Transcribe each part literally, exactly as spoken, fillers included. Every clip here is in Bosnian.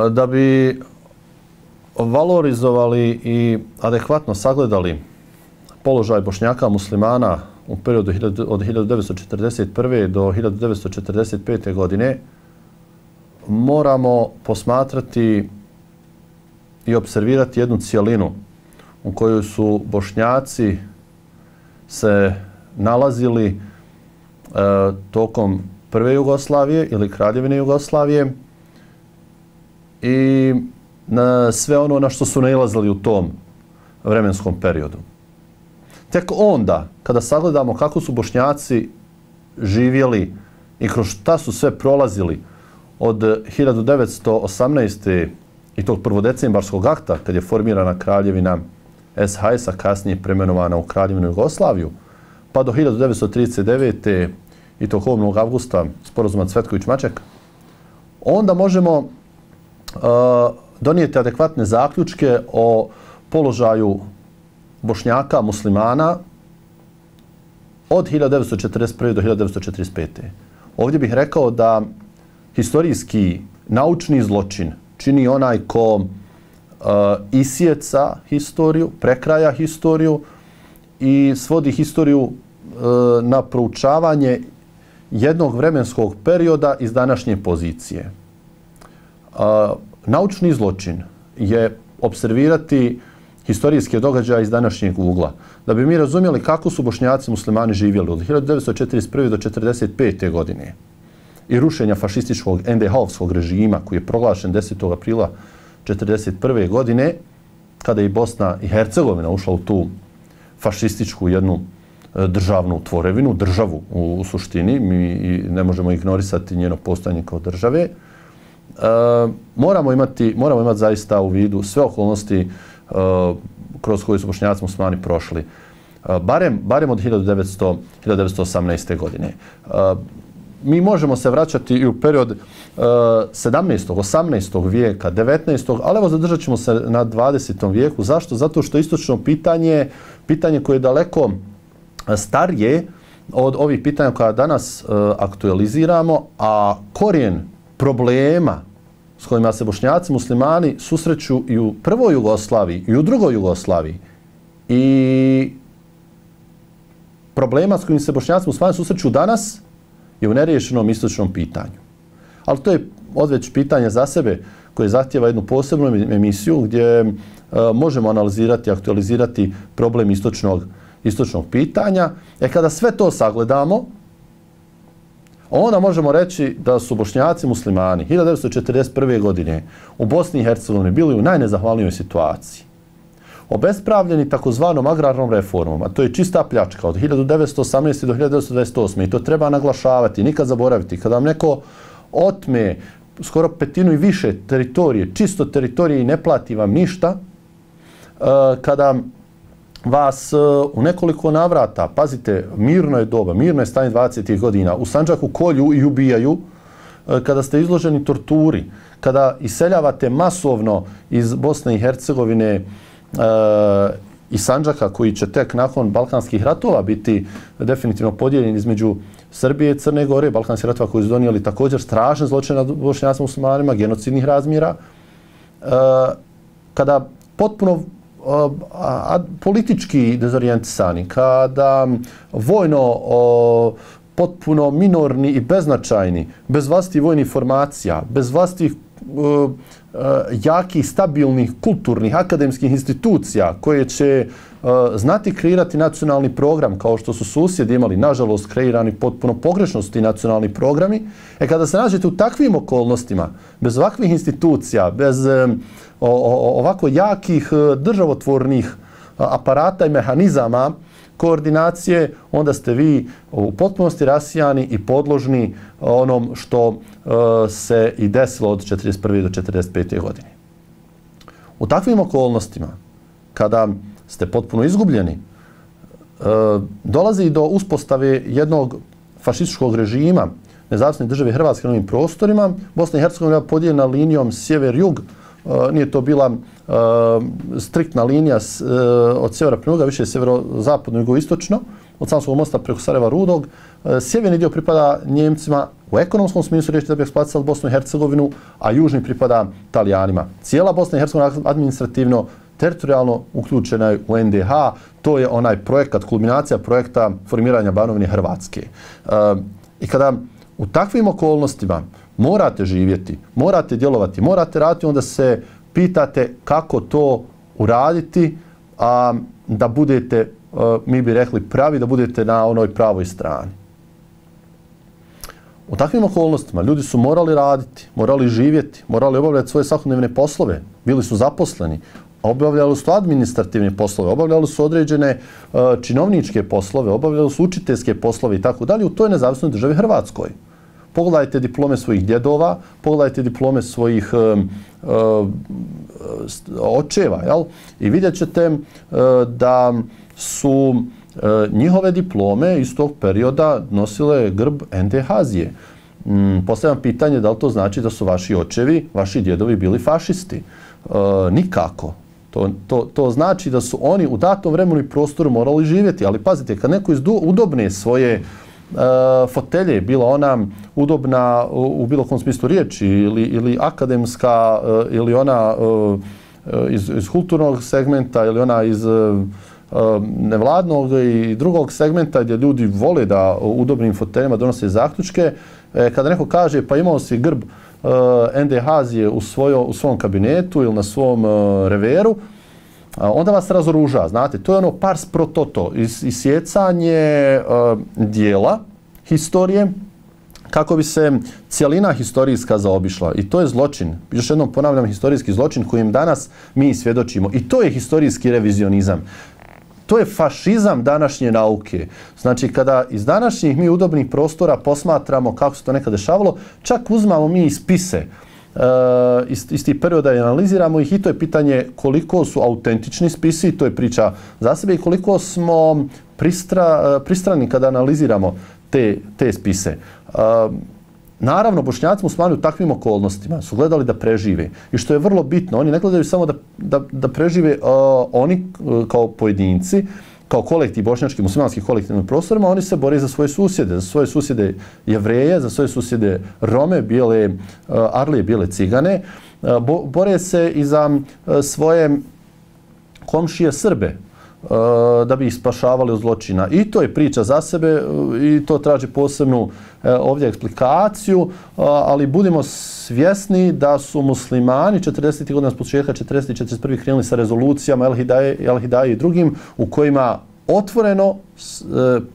Da bi valorizovali i adekvatno sagledali položaj Bošnjaka muslimana u periodu od hiljadu devetsto četrdeset prve do hiljadu devetsto četrdeset pete. godine, moramo posmatrati i observirati jednu cijelinu u kojoj su Bošnjaci se nalazili e, tokom prve Jugoslavije ili Kraljevine Jugoslavije i na sve ono na što su nailazili u tom vremenskom periodu. Tek onda, kada sagledamo kako su Bošnjaci živjeli i kroz šta su sve prolazili od hiljadu devetsto osamnaeste. i tog prvodecembarskog akta, kad je formirana kraljevina S H S-a, kasnije premenovana u Kraljevinu Jugoslaviju, pa do hiljadu devetsto trideset devete. i tog osmog avgusta sporazuma Cvetković-Maček, onda možemo uh, donijeti adekvatne zaključke o položaju Bošnjaka, muslimana od hiljadu devetsto četrdeset prve. do hiljadu devetsto četrdeset pete. Ovdje bih rekao da historijski naučni zločin čini onaj ko uh, isjeca historiju, prekraja historiju i svodi historiju uh, na proučavanje jednog vremenskog perioda iz današnje pozicije. Uh, naučni zločin je observirati historijske događaje iz današnjeg ugla. Da bi mi razumjeli kako su Bošnjaci muslimani živjeli od hiljadu devetsto četrdeset prve. do četrdeset pete. godine i rušenja fašističkog en de ha-ovskog režima koji je proglašen desetog aprila četrdeset prve. godine, kada je Bosna i Hercegovina ušla u tu fašističku jednu državnu tvorevinu, državu u, u suštini, mi ne možemo ignorisati njeno postojanje kao države. E, moramo imati, moramo imati zaista u vidu sve okolnosti e, kroz koje su Bošnjaci muslimani prošli. E, barem, barem od hiljadu devetsto osamnaeste. godine. E, mi možemo se vraćati i u period e, sedamnaestog. osamnaestog. vijeka, devetnaestog. ali evo zadržat ćemo se na dvadesetom. vijeku. Zašto? Zato što istočno pitanje, pitanje koje je daleko starije od ovih pitanja koja danas e, aktualiziramo, a korijen problema s kojima se Bošnjaci muslimani susreću i u prvoj Jugoslaviji i u drugoj Jugoslaviji i problema s kojim se Bošnjaci muslimani susreću danas je u neriješenom istočnom pitanju. Ali to je odveć pitanje za sebe koje zahtjeva jednu posebnu emisiju gdje e, možemo analizirati, aktualizirati problem istočnog istočnog pitanja. E kada sve to sagledamo, onda možemo reći da su Bošnjaci muslimani hiljadu devetsto četrdeset prve. godine u Bosni i Hercegovini bili u najnezahvalnijoj situaciji. Obespravljeni takozvanom agrarnom reformom, a to je čista pljačka od hiljadu devetsto osamnaeste. do hiljadu devetsto dvadeset osme. i to treba naglašavati, nikad zaboraviti. Kada vam neko otme skoro petinu i više teritorije, čisto teritorije i ne plati vam ništa, kada vas u nekoliko navrata, pazite, mirno je doba, mirno je stanje dvadesetih godina, u Sandžaku kolju i ubijaju, kada ste izloženi torturi, kada iseljavate masovno iz Bosne i Hercegovine e, i Sandžaka, koji će tek nakon Balkanskih ratova biti definitivno podijeljen između Srbije i Crne Gore, Balkanskih ratova koji su donijeli također strašne zločine nad Bošnjacima muslimanima, genocidnih razmjera, e, kada potpuno a, politički dezorijentisani, kada vojno o, potpuno minorni i beznačajni, bez vlastitih vojnih formacija, bez vlastitih uh, uh, jakih, stabilnih, kulturnih, akademskih institucija koje će uh, znati kreirati nacionalni program kao što su susjedi imali, nažalost, kreirani potpuno pogrešno su ti nacionalni programi. E kada se nađete u takvim okolnostima, bez ovakvih institucija, bez um, o, o, ovako jakih državotvornih aparata i mehanizama koordinacije, onda ste vi u potpunosti rasijani i podložni onom što uh, se i desilo od četrdeset prve. do četrdeset pete. godine. U takvim okolnostima, kada ste potpuno izgubljeni, uh, dolazi do uspostave jednog fašističkog režima nezavisne države Hrvatske na ovim prostorima. Bosna i Hercegovina je podijeljena linijom sjever-jug. Uh, nije to bila uh, striktna linija s, uh, od sjevera prema juga, više sjevero-zapadno, jugoistočno. od Savskog mosta preko Sarajeva Rudog. Sjeverni dio pripada Njemcima u ekonomskom smislu riječi da bi eksploatisali Bosnu i Hercegovinu, a južni pripada Talijanima. Cijela Bosna i Hercegovina administrativno, teritorijalno uključena je u N D H. To je onaj projekat, kulminacija projekta formiranja Banovine Hrvatske. I kada u takvim okolnostima morate živjeti, morate djelovati, morate raditi, onda se pitate kako to uraditi, a da budete, mi bi rekli, pravi, da budete na onoj pravoj strani. U takvim okolnostima ljudi su morali raditi, morali živjeti, morali obavljati svoje svakodnevne poslove, bili su zaposleni, obavljali su administrativne poslove, obavljali su određene uh, činovničke poslove, obavljali su učiteljske poslove i tako dalje u toj nezavisnoj državi Hrvatskoj. Pogledajte diplome svojih djedova, pogledajte diplome svojih uh, uh, očeva, jel? I vidjet ćete uh, da su uh, njihove diplome iz tog perioda nosile grb N D H-zije. Mm, postavljam pitanje da li to znači da su vaši očevi, vaši djedovi bili fašisti? Uh, nikako. To, to, to znači da su oni u datom vremenu i prostoru morali živjeti. Ali pazite, kad neko izdu, udobne svoje uh, fotelje, bila ona udobna u, u bilo kom smislu riječi ili, ili akademska uh, ili ona uh, iz, iz kulturnog segmenta ili ona iz uh, nevladnog i drugog segmenta gdje ljudi vole da u udobnim foteljama donose zaključke, e, kada neko kaže pa imao si grb uh, N D H-zije u, u svom kabinetu ili na svom uh, reveru, a onda vas razoruža. Znate, to je ono pars pro toto, is, isjecanje uh, dijela historije kako bi se cijelina historijska zaobišla. I to je zločin. Još jednom ponavljam, historijski zločin kojim danas mi svjedočimo. I to je historijski revizionizam. To je fašizam današnje nauke. Znači, kada iz današnjih mi udobnih prostora posmatramo kako se to nekad dešavalo, čak uzmamo mi i spise uh, iz, iz tih perioda i analiziramo ih i to je pitanje koliko su autentični spisi, to je priča za sebe i koliko smo pristra, uh, pristrani kada analiziramo te, te spise. Uh, Naravno, Bošnjaci muslimani u takvim okolnostima su gledali da prežive. I što je vrlo bitno, oni ne gledaju samo da, da, da prežive uh, oni uh, kao pojedinci, kao kolektiv, bošnjački, muslimanski kolektivnim prostorima, oni se bore za svoje susjede, za svoje susjede Jevreje, za svoje susjede Rome, bijele uh, Arlije, bijele Cigane. Uh, bo, bore se i za uh, svoje komšije Srbe, da bi ih spašavali od zločina. I to je priča za sebe i to traži posebnu ovdje eksplikaciju, ali budimo svjesni da su muslimani četrdesetih godina s početka četrdeset i četrdeset prve krenuli sa rezolucijama El Hidaje, El Hidaje i drugim u kojima otvoreno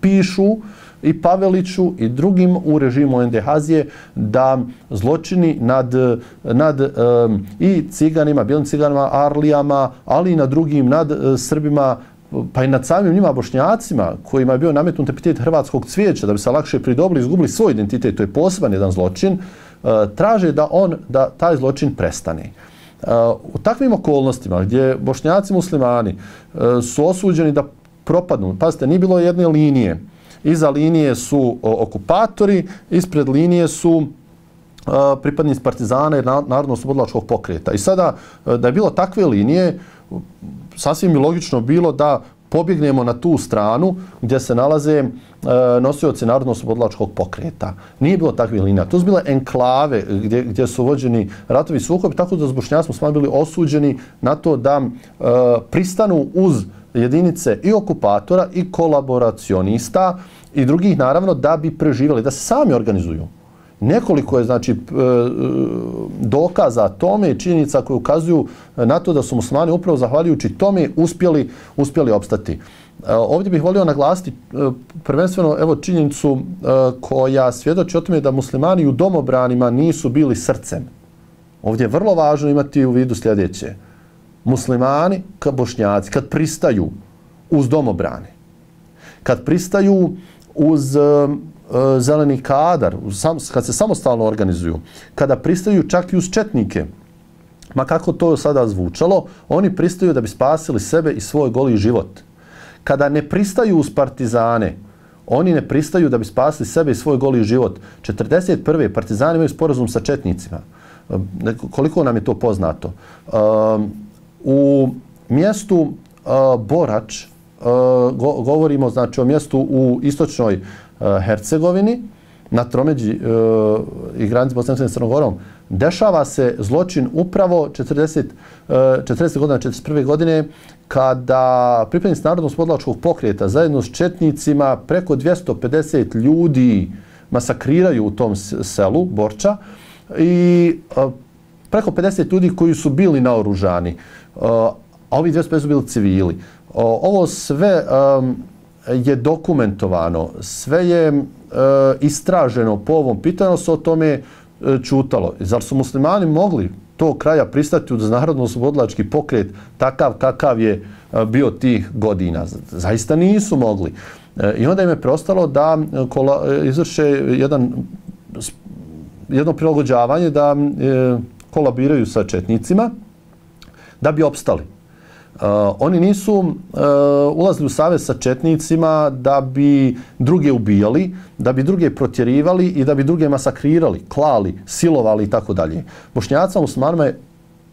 pišu i Paveliću i drugim u režimu N D H-zije da zločini nad, nad um, i ciganima, bijelim ciganima, Arlijama, ali i nad drugim, nad uh, Srbima, pa i nad samim njima Bošnjacima kojima je bio nametnut epitet hrvatskog cvijeća da bi se lakše pridobili, izgubili svoj identitet, to je poseban jedan zločin, uh, traže da on, da taj zločin prestane. Uh, u takvim okolnostima gdje Bošnjaci muslimani uh, su osuđeni da propadnu, pazite, nije bilo jedne linije. Iza linije su okupatori, ispred linije su uh, pripadnici partizana i narodno-oslobodilačkog pokreta. I sada, da je bilo takve linije, sasvim je logično bilo da pobjegnemo na tu stranu gdje se nalaze uh, nosioci narodno-oslobodilačkog pokreta. Nije bilo takve linija. To su bile enklave gdje, gdje su vođeni ratovi sukobi, tako da s Bošnjacima smo bili osuđeni na to da uh, pristanu uz jedinice i okupatora i kolaboracionista i drugih, naravno, da bi preživjeli, da se sami organizuju. Nekoliko je, znači, dokaza tome i činjenica koje ukazuju na to da su muslimani upravo zahvaljujući tome uspjeli, uspjeli opstati. Ovdje bih volio naglasiti prvenstveno evo činjenicu koja svjedoči o tome da muslimani u domobranima nisu bili srcem. Ovdje je vrlo važno imati u vidu sljedeće. Muslimani, kad Bošnjaci, kad pristaju uz domobrane, kad pristaju uz uh, zeleni kadar, uz sam, kad se samostalno organizuju, kada pristaju čak i uz četnike, ma kako to sada zvučalo, oni pristaju da bi spasili sebe i svoj goli život. Kada ne pristaju uz partizane, oni ne pristaju da bi spasili sebe i svoj goli život. četrdeset prve partizani imaju sporazum sa četnicima. Uh, koliko nam je to poznato? Uh, U mjestu uh, Borač go, govorimo znači, o mjestu u istočnoj uh, Hercegovini, na tromeđi uh, i granici Bosne i Hercegovine s Crnom Gorom, dešava se zločin upravo četrdeset, uh, četrdeset godina, četrdeset prve godine, kada pripadnici Narodno-oslobodilačkog pokreta zajedno s četnicima preko dvjesto pedeset ljudi masakriraju u tom selu Borča i uh, preko pedeset ljudi koji su bili naoružani, uh, a ovi dvjesto pedeset su bili civili. Uh, ovo sve um, je dokumentovano, sve je uh, istraženo po ovom pitanju, se o tome uh, čutalo. Zar su muslimani mogli tog kraja pristati uz Narodno-oslobodilački pokret takav kakav je uh, bio tih godina? Zaista nisu mogli. Uh, I onda im je preostalo da kola, izvrše jedan, jedno prilagođavanje, da uh, kolabiraju sa četnicima da bi opstali. Uh, oni nisu uh, ulazili u savez sa četnicima da bi druge ubijali, da bi druge protjerivali i da bi druge masakrirali, klali, silovali i tako dalje. Bošnjacima, muslimanima je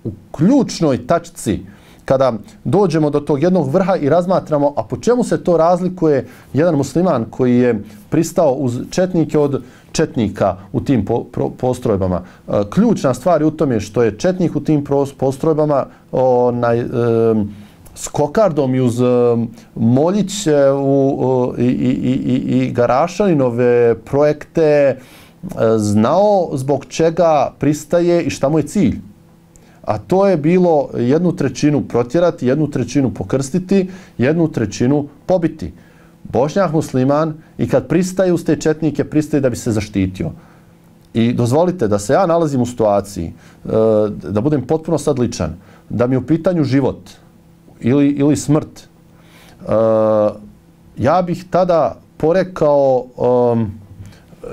u ključnoj tačci kada dođemo do tog jednog vrha i razmatramo, a po čemu se to razlikuje jedan musliman koji je pristao uz četnike od četnika u tim po, pro, postrojbama. E, ključna stvar je u tome što je četnik u tim postrojbama onaj, e, s kokardom i uz e, Moljiće u, e, i, i, i, i Garašaninove projekte e, znao zbog čega pristaje i šta mu je cilj. A to je bilo jednu trećinu protjerati, jednu trećinu pokrstiti, jednu trećinu pobiti. Bošnjak musliman i kad pristaje uz te četnike, pristaje da bi se zaštitio. I dozvolite da se ja nalazim u situaciji, da budem potpuno sad ličan, da mi je u pitanju život ili, ili smrt. Ja bih tada porekao um,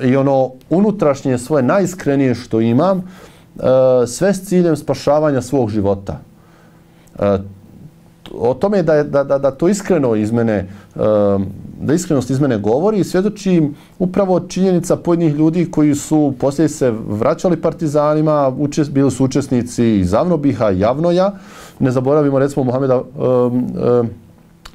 i ono unutrašnje svoje najiskrenije što imam, sve s ciljem spašavanja svog života. O tome da, da, da, da to iskreno iz mene, da iskrenost iz mene govori i svjedoči upravo činjenica pojedinih ljudi koji su poslije se vraćali partizanima, učest, bili su učesnici iz Avnobiha i Javnoja. Ne zaboravimo recimo Muhameda um,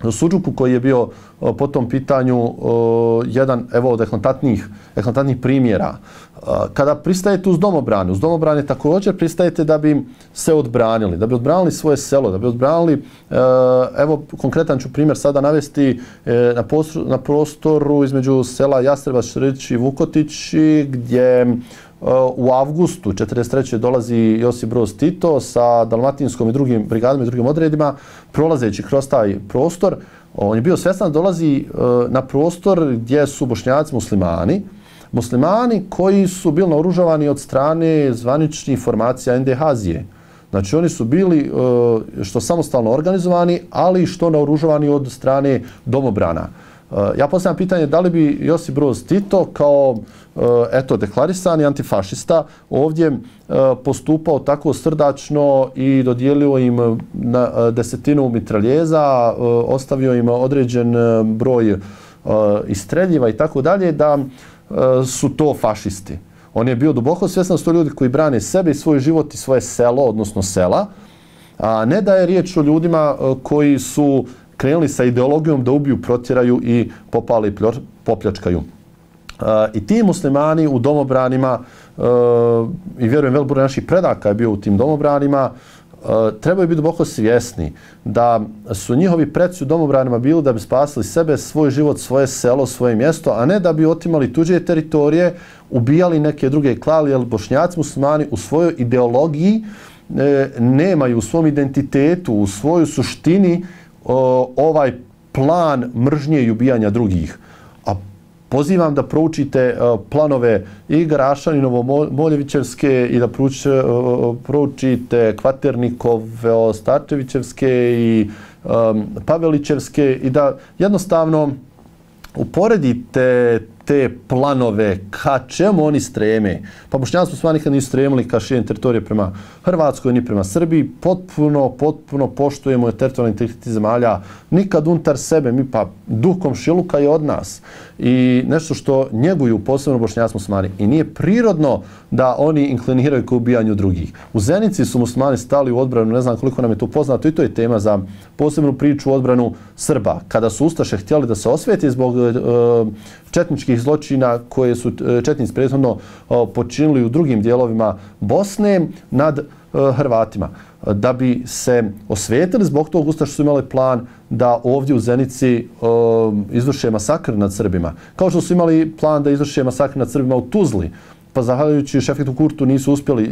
um, Suđuku koji je bio uh, po tom pitanju uh, jedan evo, od eklatantnih, eklatantnih primjera. Uh, kada pristajete uz domobrane, uz domobrane također pristajete da bi se odbranili, da bi odbranili svoje selo, da bi odbranili, uh, evo konkretan ću primjer sada navesti, uh, na, postoru, na prostoru između sela Jastrebac, Šrdić i Vukotići, gdje uh, u avgustu četrdeset treće dolazi Josip Broz Tito sa dalmatinskom i drugim brigadama i drugim odredima, prolazeći kroz taj prostor. On je bio svjestan da dolazi uh, na prostor gdje su Bošnjaci muslimani, muslimani koji su bili naoružavani od strane zvaničnih formacija en de ha-zije. Znači oni su bili uh, što samostalno organizovani, ali što naoružavani od strane domobrana. Uh, ja postavljam pitanje da li bi Josip Broz Tito kao uh, eto, deklarisani antifašista ovdje uh, postupao tako srdačno i dodijelio im na, uh, desetinu mitraljeza, uh, ostavio im određen uh, broj uh, istreljiva i tako dalje, da uh, su to fašisti. On je bio duboko svjestan da su to ljudi koji brane sebe i svoj život i svoje selo, odnosno sela, a ne da je riječ o ljudima uh, koji su krenuli sa ideologijom da ubiju, protjeraju i popali, popljačkaju. Uh, I ti muslimani u domobranima, uh, i vjerujem velik broj naših predaka je bio u tim domobranima, uh, trebaju biti duboko svjesni da su njihovi preci u domobranima bili da bi spasili sebe, svoj život, svoje selo, svoje mjesto, a ne da bi otimali tuđe teritorije, ubijali neke druge klali, jer Bošnjaci muslimani u svojoj ideologiji e, nemaju u svom identitetu, u svojoj suštini o, ovaj plan mržnje i ubijanja drugih. A pozivam da proučite o, planove i Garašaninovo Moljevićevske i da proučite, o, proučite Kvaternikove, Starčevićevske i o, Pavelićevske i da jednostavno uporedite te planove, ka čemu oni streme. Pa Bošnjaci muslimani nikad nisu stremili ka širenju teritorije prema Hrvatskoj ni prema Srbiji. Potpuno, potpuno poštujemo teritorijalni integritet zemalja. Nikad unutar sebe, mi pa duh komšiluka je od nas. I nešto što njeguju posebno Bošnjaci muslimani. I nije prirodno da oni inkliniraju ka ubijanju drugih. U Zenici su muslimani stali u odbranu, ne znam koliko nam je to poznato, i to je tema za posebnu priču u odbranu Srba. Kada su Ustaše htjeli da se osvijete zbog uh, četničkih zločina koje su četnici prethodno uh, počinili u drugim dijelovima Bosne nad uh, Hrvatima. Da bi se osvetili, zbog tog Ustaše su imali plan da ovdje u Zenici uh, izvrše masakr nad Srbima. Kao što su imali plan da izvrše masakr nad Srbima u Tuzli, pa zahvaljujući Šefiku Kurtu nisu uspjeli e,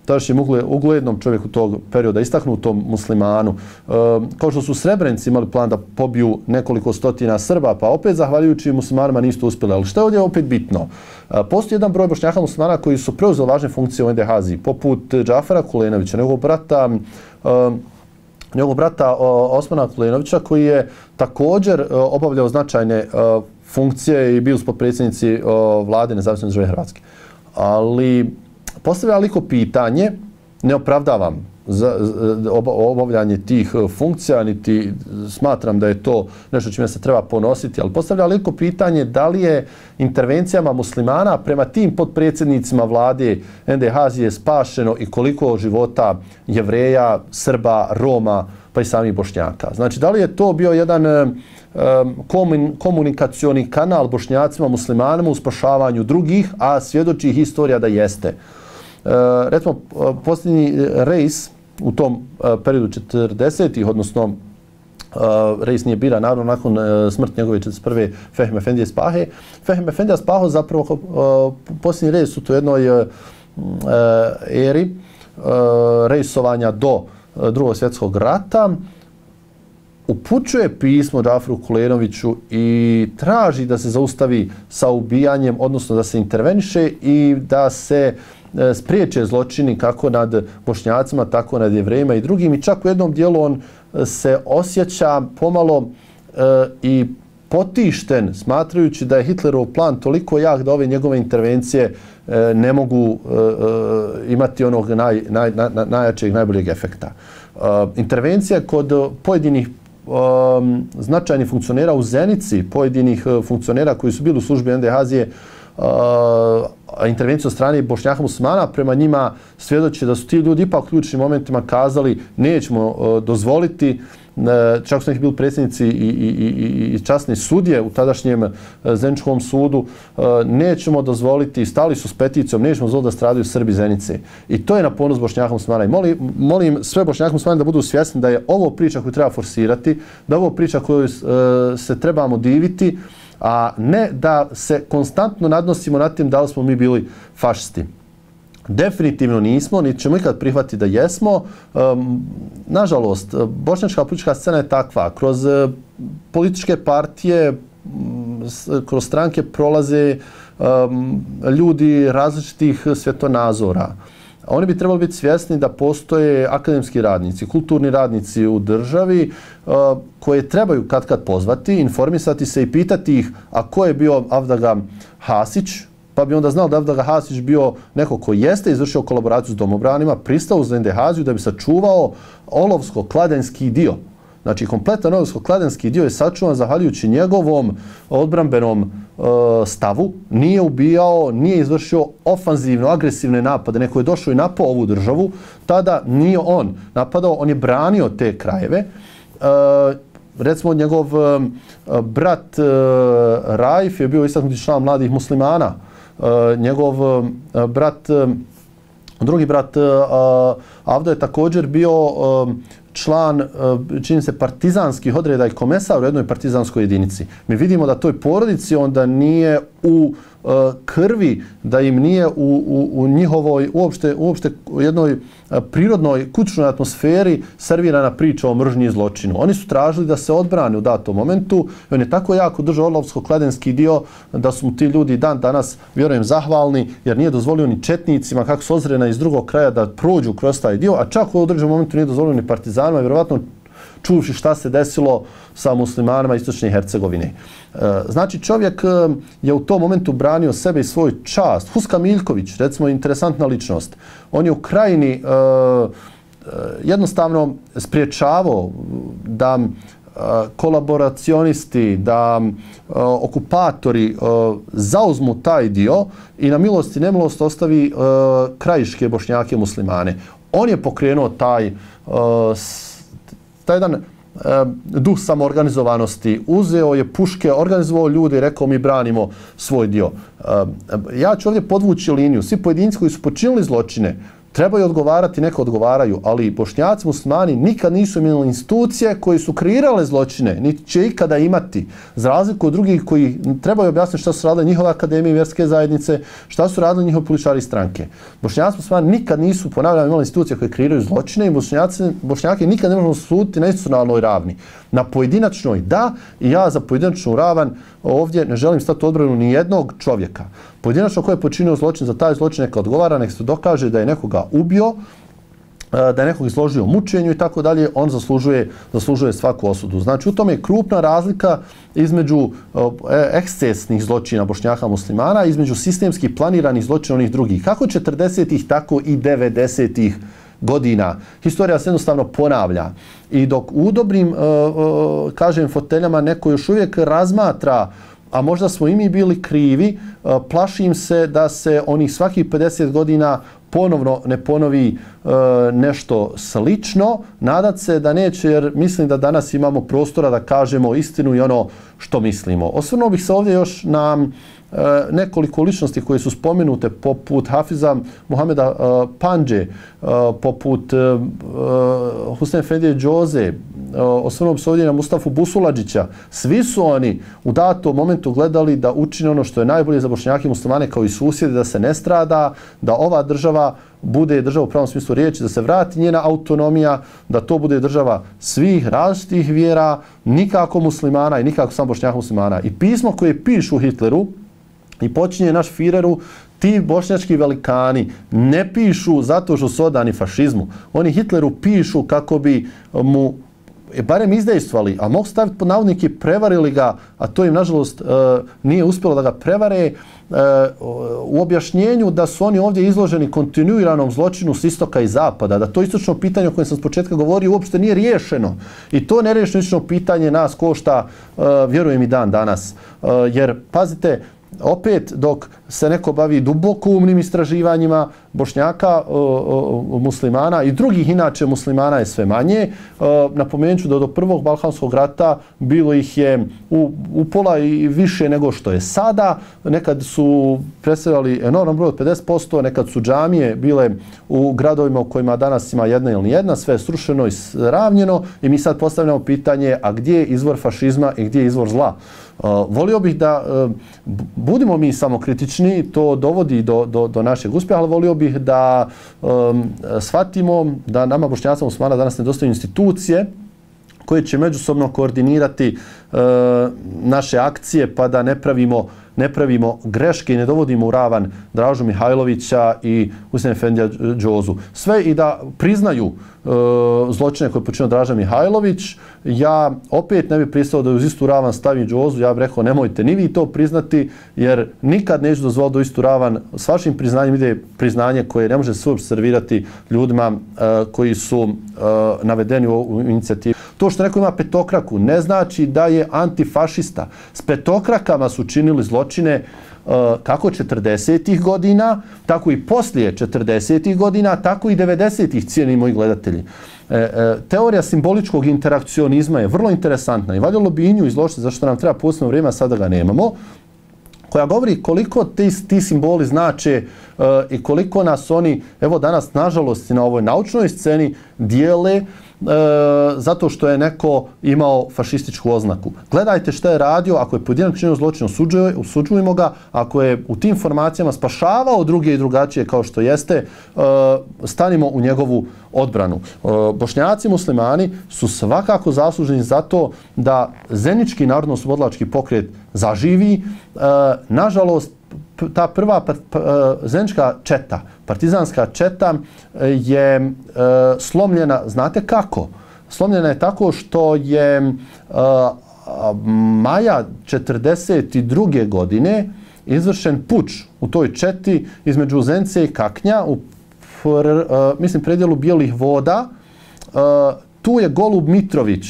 tadašnjem uglednom čovjeku tog perioda, istaknutom muslimanu. E, kao što su Srebrenici imali plan da pobiju nekoliko stotina Srba, pa opet zahvaljujući muslimanima nisu uspjeli. Ali što je ovdje opet bitno? E, postoji jedan broj Bošnjaka muslimana koji su preuzeli važne funkcije u N D H Z-i, poput Džafara Kulenovića, njegovog brata, e, njegovog brata Osmana Kulenovića, koji je također obavljao značajne funkcije i bio su potpredsjednici vlade Nezavisne države Hrvatske. Ali postavlja liko pitanje, ne opravdavam za obavljanje tih funkcija, niti smatram da je to nešto čime se treba ponositi, ali postavlja liko pitanje da li je intervencijama muslimana prema tim potpredsjednicima vlade N D H Z je spašeno i koliko života Jevreja, Srba, Roma, pa i samih Bošnjaka. Znači, da li je to bio jedan komunikacioni kanal Bošnjacima, muslimanima u spašavanju drugih, a svjedoči historija da jeste. Recimo, posljednji rejs u tom periodu četrdesetih, odnosno rejs nije bira, naravno, nakon smrti njegove četrdeset prve Fehim Efendije Spahe. Fehim Efendija Spaho zapravo posljednji rejs u toj jednoj eri rejsovanja do Drugog svjetskog rata upućuje pismo Džaferu Kulenoviću i traži da se zaustavi sa ubijanjem, odnosno da se interveniše i da se spriječe zločini kako nad Bošnjacima, tako nad Jevrejima i drugim. I čak u jednom dijelu on se osjeća pomalo e, i potišten, smatrajući da je Hitlerov plan toliko jak da ove njegove intervencije e, ne mogu e, e, imati onog naj, naj, naj, najjačeg, najboljeg efekta. E, intervencija kod pojedinih Um, značajnih funkcionera u Zenici, pojedinih uh, funkcionera koji su bili u službi N D H Z-je, uh, intervenciju od strane Bošnjaka muslimana prema njima svjedoči da su ti ljudi ipak u ključnim momentima kazali nećemo uh, dozvoliti, uh, čak su neki bili predsjednici i, i, i, i časni sudje u tadašnjem uh, Zeničkom sudu, uh, nećemo dozvoliti, stali su s peticijom, nećemo dozvoliti da stradaju Srbi Zenice. I to je na ponos Bošnjaka muslimana. I molim, molim sve Bošnjaka muslimana da budu svjesni da je ovo priča koju treba forsirati, da je ovo priča koju uh, se trebamo diviti, a ne da se konstantno nadnosimo nad tim da li smo mi bili fašisti. Definitivno nismo, niti ćemo ikad prihvatiti da jesmo. Um, nažalost, bošnjačka politička scena je takva. Kroz uh, političke partije, um, kroz stranke prolaze um, ljudi različitih svjetonazora. Oni bi trebali biti svjesni da postoje akademski radnici, kulturni radnici u državi uh, koje trebaju kad kad pozvati, informisati se i pitati ih a ko je bio Avdaga Hasić, pa bi onda znao da Avdaga Hasić bio neko ko jeste izvršio kolaboraciju s domobranima, pristao za N D H Z-u da bi sačuvao olovsko-kladenski dio. Znači, kompletan olovsko-kladenski dio je sačuvan zahvaljujući njegovom odbrambenom uh, stavu. Nije ubijao, nije izvršio ofanzivno, agresivne napade. Neko je došao i napao ovu državu. Tada nije on napadao, on je branio te krajeve. Uh, recimo, njegov uh, brat uh, Raif je bio istaknuti član mladih muslimana. Uh, njegov uh, brat, uh, drugi brat uh, Avdo je također bio uh, član, čini se, partizanskih odreda i komesar u jednoj partizanskoj jedinici. Mi vidimo da toj porodici onda nije u uh, krvi, da im nije u, u, u njihovoj uopšte, uopšte u jednoj uh, prirodnoj kućnoj atmosferi servirana priča o mržnji i zločinu. Oni su tražili da se odbrane u datom momentu i on je tako jako držao olovsko-kladenski dio da su mu ti ljudi dan danas, vjerujem, zahvalni jer nije dozvolio ni četnicima kako su ozrena iz drugog kraja da prođu kroz taj dio, a čak u određenom momentu nije dozvolio ni partizanima, vjerovatno čuvši šta se desilo sa muslimanima Istočne Hercegovine. Znači čovjek je u tom momentu branio sebe i svoj čast. Huska Miljković, recimo interesantna ličnost, on je u Krajini jednostavno spriječavao da kolaboracionisti, da uh, okupatori uh, zauzmu taj dio i na milost i nemilost ostavi uh, krajiške bošnjake muslimane. On je pokrenuo taj, uh, taj jedan uh, duh samoorganizovanosti, uzeo je puške, organizovao ljude i rekao mi branimo svoj dio. Uh, ja ću ovdje podvući liniju. Svi pojedinci koji su počinili zločine trebaju odgovarati, neka odgovaraju, ali bošnjaci muslimani nikad nisu imali institucije koje su kreirale zločine, niti će ikada imati, za razliku od drugih koji trebaju objasniti šta su radile njihove akademije i vjerske zajednice, šta su radili njihovi političari stranke. Bošnjaci muslimani nikad nisu, ponavljam, imali institucije koje kreiraju zločine i bošnjaci, bošnjaki nikad ne možemo suditi na institucionalnoj ravni. Na pojedinačnoj da, i ja za pojedinačnu ravan ovdje ne želim stati odbranu ni jednog čovjeka. Pojedinačno ko je počinio zločin, za taj zločin neka odgovara, nek se dokaže da je nekoga ubio, da je nekog izložio mučenju i tako dalje, on zaslužuje, zaslužuje svaku osudu. Znači u tome je krupna razlika između ekscesnih zločina bošnjaka muslimana, između sistemskih planiranih zločina onih drugih. Kako četrdesetih, tako i devedesetih godina. Historija se jednostavno ponavlja. I dok u dobrim, kažem, foteljama neko još uvijek razmatra, a možda smo i mi bili krivi, plašim se da se onih svakih pedeset godina ponovno ne ponovi e, nešto slično. Nadat se da neće, jer mislim da danas imamo prostora da kažemo istinu i ono što mislimo. Osvrnuo bih se ovdje još na e, nekoliko ličnosti koje su spomenute, poput Hafiza Muhameda e, Pandže, e, poput e, Hussein Efendije Džoze, e, osvrnuo bih se ovdje na Mustafu Busuladžića. Svi su oni u datom momentu gledali da učine ono što je najbolje za bošnjake i muslimane kao i susjede, da se ne strada, da ova država bude država u pravom smislu riječi, da se vrati njena autonomija, da to bude država svih različitih vjera, nikako muslimana i nikako samo bošnjaka muslimana. I pismo koje pišu Hitleru i počinje naš Führeru, ti bošnjački velikani ne pišu zato što su odani fašizmu. Oni Hitleru pišu kako bi mu barem izdejstvali, a mogu staviti pod navodnike, prevarili ga, a to im nažalost nije uspjelo da ga prevare, u objašnjenju da su oni ovdje izloženi kontinuiranom zločinu s istoka i zapada, da to istočno pitanje o kojem sam s početka govorio uopšte nije riješeno. I to nerješeno istočno pitanje nas košta, vjerujem i dan danas. Jer, pazite, opet dok se neko bavi duboko umnim istraživanjima bošnjaka, o, o, muslimana i drugih inače muslimana je sve manje. O, napomenut ću da do prvog Balkanskog rata bilo ih je u, u pola i više nego što je sada. Nekad su predstavljali enorman broj od pedeset posto, nekad su džamije bile u gradovima u kojima danas ima jedna ili nijedna, sve je srušeno i ravnjeno i mi sad postavljamo pitanje, a gdje je izvor fašizma i gdje je izvor zla? Uh, volio bih da uh, budimo mi samokritični, to dovodi do, do, do našeg uspjeha, ali volio bih da um, shvatimo da nama bošnjacima muslimana danas nedostaju institucije koje će međusobno koordinirati uh, naše akcije pa da ne pravimo, ne pravimo greške i ne dovodimo u ravan Dražu Mihajlovića i Hussein Efendija Džozu. Sve i da priznaju uh, zločine koje je počinio Draža Mihajlović. Ja opet ne bih pristao da uz istu ravan stavi Džozu. Ja bih rekao nemojte ni vi to priznati jer nikad neću dozvoliti da istu ravan s vašim priznanjem ide priznanje koje ne može se uopšte servirati ljudima uh, koji su uh, navedeni u, u inicijativi. To što neko ima petokraku ne znači da je antifašista. S petokrakama su činili zločine uh, kako četrdesetih godina, tako i poslije četrdesetih godina, tako i devedesetih, cijeni moji gledatelji. E, e, teorija simboličkog interakcionizma je vrlo interesantna i valjalo bi i nju izložiti, zašto nam treba posebno vrijeme, a sada ga nemamo, koja govori koliko ti, ti simboli znače uh, i koliko nas oni, evo danas, nažalost, na ovoj naučnoj sceni dijele uh, zato što je neko imao fašističku oznaku. Gledajte šta je radio, ako je pojedinačno činio zločin, osuđujemo ga, ako je u tim formacijama spašavao druge i drugačije kao što jeste, uh, stanimo u njegovu odbranu. Uh, Bošnjaci muslimani su svakako zasluženi za to da Zenički narodno-oslobodilački pokret zaživi. Uh, nažalost, ta prva uh, zenička četa, partizanska četa je uh, slomljena, znate kako? Slomljena je tako što je maja četrdeset druge godine izvršen puč u toj četi između Zence i Kaknja u mislim predjelu Bijelih voda. Tu je Golub Mitrović,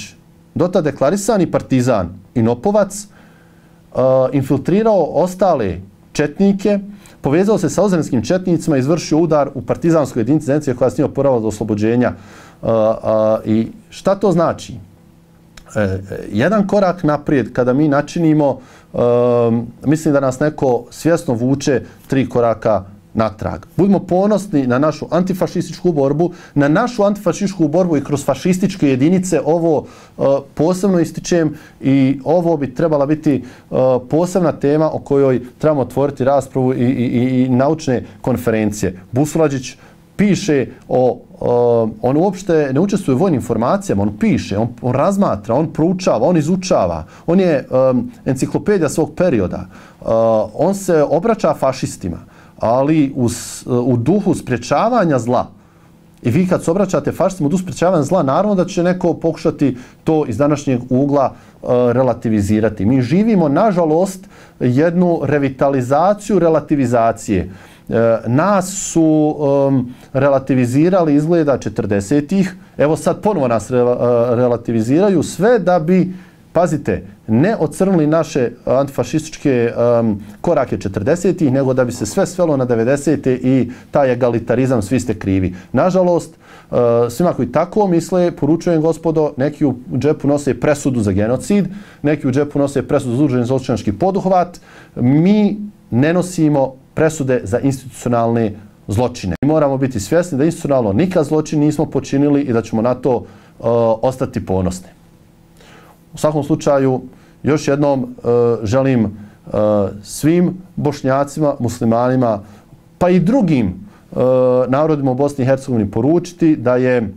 dotad deklarisani partizan i Nopovac, infiltrirao ostale četnike, povezao se sa ozrenskim četnicima i izvršio udar u partizanskoj jedinici Zenice koja se nije oporavala do oslobođenja. I šta to znači? Jedan korak naprijed kada mi načinimo, mislim da nas neko svjesno vuče tri koraka natrag. Budimo ponosni na našu antifašističku borbu, na našu antifašističku borbu i kroz fašističke jedinice. Ovo uh, posebno ističem i ovo bi trebala biti uh, posebna tema o kojoj trebamo otvoriti raspravu i, i, i naučne konferencije. Busulađić piše o, uh, on uopšte ne učestvuje u vojnim informacijama, on piše, on, on razmatra, on proučava, on izučava, on je um, enciklopedija svog perioda, uh, on se obraća fašistima, ali u, u duhu sprječavanja zla. I vi kad se obraćate fašistima u duhu sprječavanja zla, naravno da će neko pokušati to iz današnjeg ugla uh, relativizirati. Mi živimo, nažalost, jednu revitalizaciju relativizacije. Uh, nas su um, relativizirali izgleda četrdesetih, evo sad ponovo nas re, uh, relativiziraju sve da bi, pazite, ne ocrnili naše antifašističke um, korake četrdesetih, nego da bi se sve svelo na devedesete i taj egalitarizam, svi ste krivi. Nažalost, uh, svima koji tako misle, poručujem gospodo, neki u džepu nose presudu za genocid, neki u džepu nose presudu za udruženi zločinački poduhvat. Mi ne nosimo presude za institucionalne zločine. Mi moramo biti svjesni da institucionalno nikad zločin nismo počinili i da ćemo na to uh, ostati ponosni. U svakom slučaju, još jednom uh, želim uh, svim Bošnjacima, muslimanima, pa i drugim uh, narodima u Bosni i Hercegovini poručiti da je uh,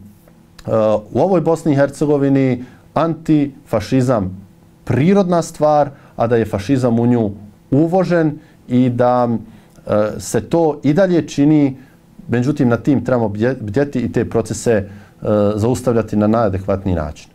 u ovoj Bosni i Hercegovini antifašizam prirodna stvar, a da je fašizam u nju uvožen i da uh, se to i dalje čini, međutim na tim trebamo bdjeti i te procese uh, zaustavljati na najadekvatniji način.